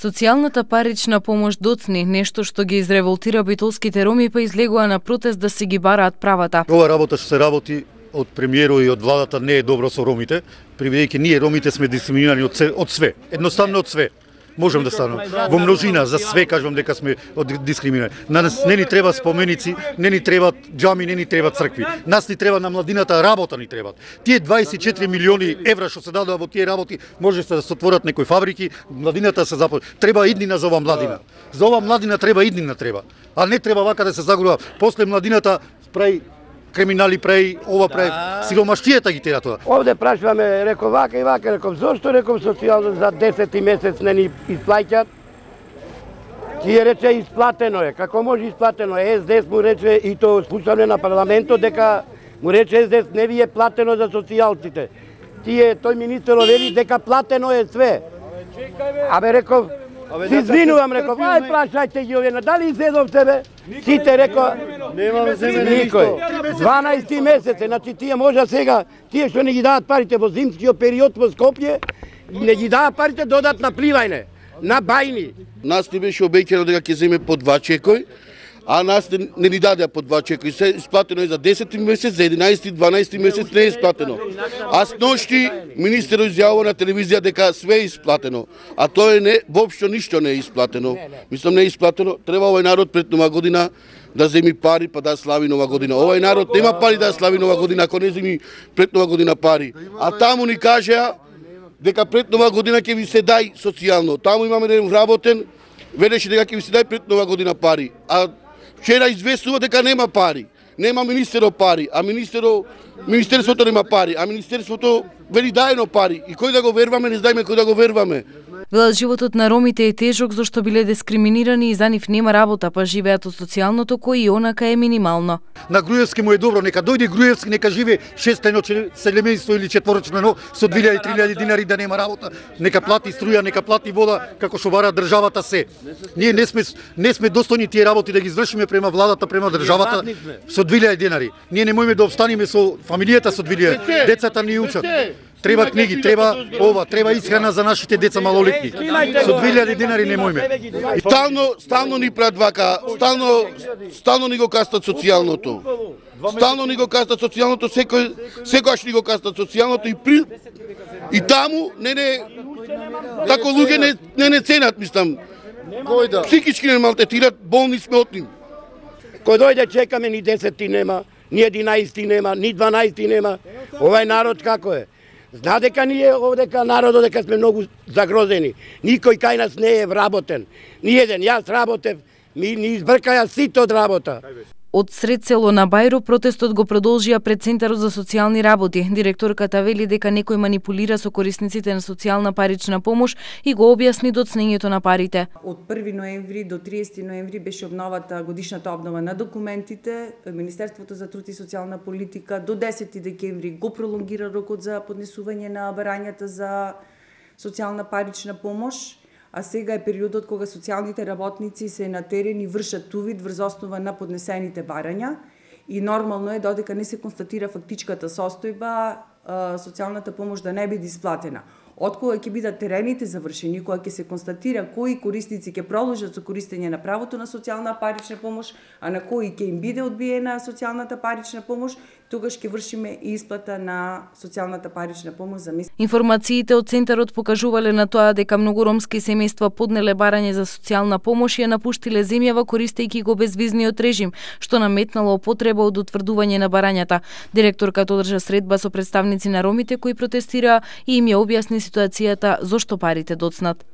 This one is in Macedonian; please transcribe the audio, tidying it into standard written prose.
Социјалната парична помош доцни, нешто што ги изреволтира битолските роми, па излегува на протест да си ги бараат правата. Ова работа што се работи од премиерот и од владата не е добро со ромите, бидејќи ние ромите сме дискриминирани од све, едноставно од све. Можам да станам во множина, за све кажувам дека сме дискриминирани. На нас не ни треба споменици, не ни требаат џами, не ни требаат цркви. Нас ни треба на младината работа ни требаат. Тие 24 милиони евра што се дадоа во тие работи, можете да се отворат некои фабрики, младината се започне. Треба иднина за оваа младина. За оваа младина треба иднина треба. А не треба вака да се загорува. После младината прави криминали, прави ова, прави сиромаштијата ги тера тоа. Овде прашуваме, реков вака и вака, реков зошто, реков социјално за 10 месец не ни исплаќат. Тие рече исплатено е. Како може исплатено е? СДС му рече и то спушане на парламентот дека му рече СДС не ви е платено за социјалците. Тој министер вели дека платено е све. Абе реков, си извинувам, реков, ај прашајте ги овие, дали изедовте бе? Сите реков, никој. 12 месеци, значи тие може сега, тие што не ги дават парите во зимскиот период во Скопје, не ги дават парите додат на Пливајне, на Бајни. Нас ни беше обеќано дека ќе земе по 2 чекој, а нас не ни дадеа по 2 чекој. Се исплатено е за 10 месец, за 11 и 12 месец не е исплатено. А сношти министерот изјавува на телевизија дека све е исплатено, а тоа не, воопшто ништо не е исплатено. Мислам не е исплатено. Треба овој народ пред Нова година да земи пари па да слави Нова година. Овој народ нема пари да слави Нова година ако не земи пред Нова година пари. А таму ни кажеа дека пред Нова година ќе ви се дај социјално. Таму имаме еден вработен, велеше дека ќе ви се дај пред Нова година пари. А вчера известува дека нема пари. Нема министерот пари, а министерството нема пари, а министерството вели дајно пари. И кој да го верваме, не знаеме кој да го верваме. Велат животот на ромите е тежок зашто биле дискриминирани и за нив нема работа, па живеат од социјалното кој и онака е минимално. На Груевски му е добро, нека дојде Груевски, нека живе шестено селемејство или четворочно со 2000-3000 динари да нема работа, нека плати струја, нека плати вода, како што бара државата се. Ние не сме достојни тие работи да ги извршиме према владата, према државата со 2000 динари. Ние не можеме да обстанеме со фамилијата со 2000. Децата ни учат. Треба книги, треба исхрана за нашите деца малолетни. Со 2000 динари не можеме. Стално ни прават вака, стално ни го кастат социјалното. Стално ни го кастат социјалното, секогаш ни го кастат социјалното и таму тако луѓе не ценат, мислам. Психички не малтретират, болни сме од нив. Кој дојде чекаме ни 10 нема, ни 11 нема, ни 12 нема. Овај народ како е? Зна дека ние овдека народот дека сме многу загрозени. Никој кај нас не е вработен. Ниеден, јас работев, ми избркаја сите од работа. Од сред село на Бајро протестот го продолжија пред Центарот за социјални работи. Директорката вели дека некој манипулира со корисниците на социјална парична помош и го објасни доцнењето на парите. Од 1 ноември до 30 ноември беше обновата годишната обнова на документите. Министерството за труд и социјална политика до 10 декември го пролонгира рокот за поднесување на барањата за социјална парична помош. А сега е периодот кога социјалните работници се на терен и вршат увид врз основа на поднесените барања и нормално е додека не се констатира фактичката состојба, социјалната помош да не биде исплатена. Од кога ќе бидат терените завршени, кога ќе се констатира кои корисници ќе продолжат со користење на правото на социјална парична помош, а на кои ќе им биде одбиена социјалната парична помош, тогаш ќе вршиме и исплата на социјалната парична помош за месец. Информациите од Центарот покажувале на тоа дека многу ромски семејства поднеле барање за социјална помош и ја напуштиле земјава користејќи го безвизниот режим, што наметнало потреба од утврдување на барањата. Директорката одржа средба со представници на ромите кои протестираа и им ја објасни ситуацијата зошто парите доцнат.